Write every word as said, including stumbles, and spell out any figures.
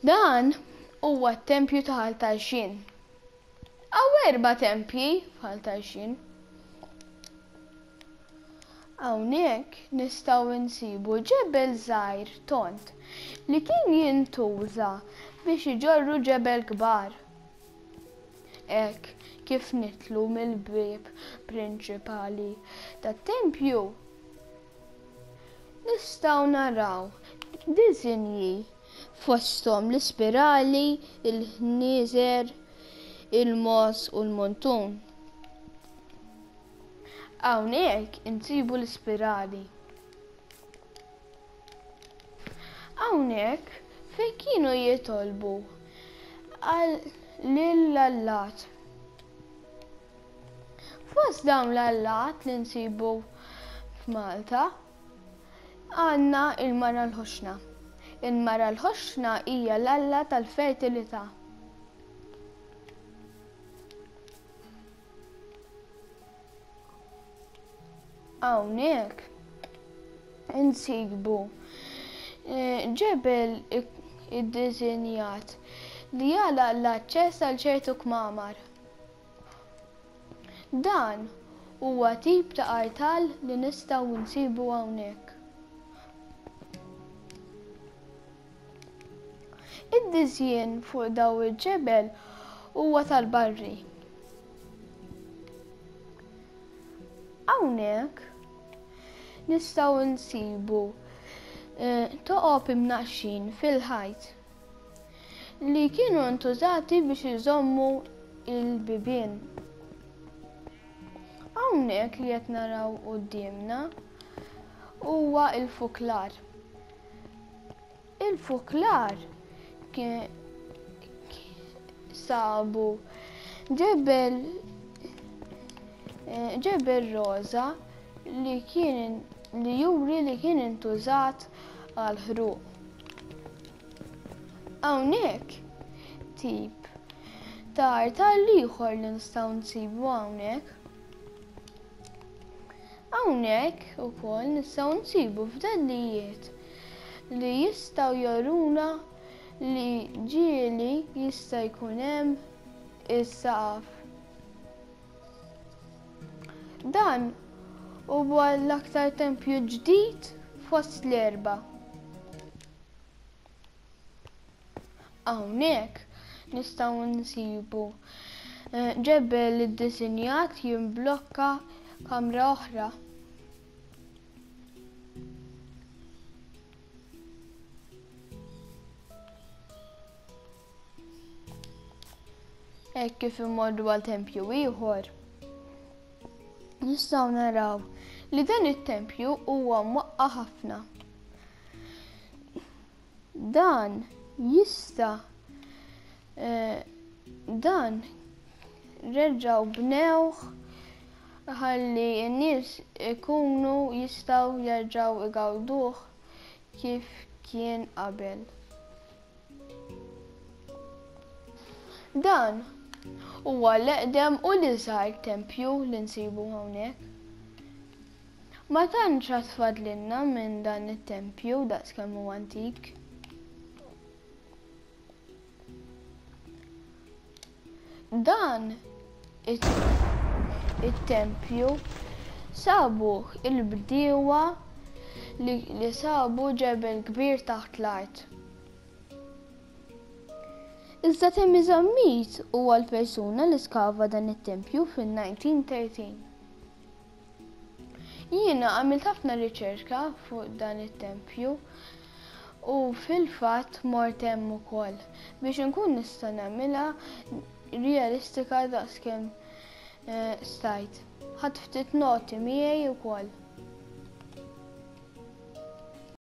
Dan huwa t-tempju ta' Ħal Tarxien. Hawn erba' tempji f'Ħal Tarxien. Hawnhekk nistgħu nsibu ġebel żgħir tond li kien jintuża biex iġorru ġebel kbar. Hekk kif nidħlu mill-bieb prinċipali tat-tempju, nistgħu naraw disinji fosthom l-ispirali, il-ħnieżer, il-mogħoż u l-muntun. Hawnhekk insibu l-ispirali. Hawnhekk fejn kienu jitolbu għal lill-allat. Fost dawn l-allat li nsibu f'Malta għandna il-Mara l-Ħoxna. Il-Mara l-Ħoxna hija l-alla tal-fertilità. Hawnhekk insibu eh, ġebel iddisinjat li jagħlaq l-aċċess għal ċertu kmamar. Dan huwa tip ta' artal li nistgħu nsibu hawnhekk. Id-diżjin fuq daw il-ġebel huwa tal-barri. Hawnhekk nistgħu nsibu eh, toqob imnaqqxin fil-ħajt li kienu ntużati biex iżommu il-bibien. Hawnhekk li qed naraw quddiemna huwa il-fuklar. Il-fuklar kien sabu ġebel eh, ġebel roża li kien li juri li kien intużat għal ħruq. Hawnhekk tip ta' artal ieħor li nistgħu nsibu hawnhekk. Hawnhekk ukoll nistgħu nsibu fdallijiet li jistgħu joruna li ġieli jista' jkun hemm is-saqaf. Dan huwa l-aktar tempju ġdid fost l-erba. Hawnhekk nistgħu nsibu eh, ġebel iddisinjat jimblokka kamra oħra. Hekk kif immorru għal tempju ieħor, nistgħu naraw li dan it-tempju huwa mwaqqa' ħafna. Dan jista' eh, dan reġgħu bnewh ħalli n-nies ikunu jistgħu jerġgħu igawduh kif kien qabel. Dan huwa l-eqdem u l-iżgħar tempju li nsibu hawnhekk. Ma tantx għad fadlilna minn dan it-tempju daqskemm huwa antik. Dan it-tempju sabuh il-bdiewa li, li sabu ġebel kbir taħt l-art. Iżda Temi Zammit huwa l-persuna li skava dan it-tempju fin-nineteen thirteen. Jiena għamilt ħafna riċerka fuq dan it-tempju u fil-fatt mort hemm ukoll biex inkun nista' nagħmilha realistika daqskemm eh, stajt. Ħadt ftit noti miegħi wkoll.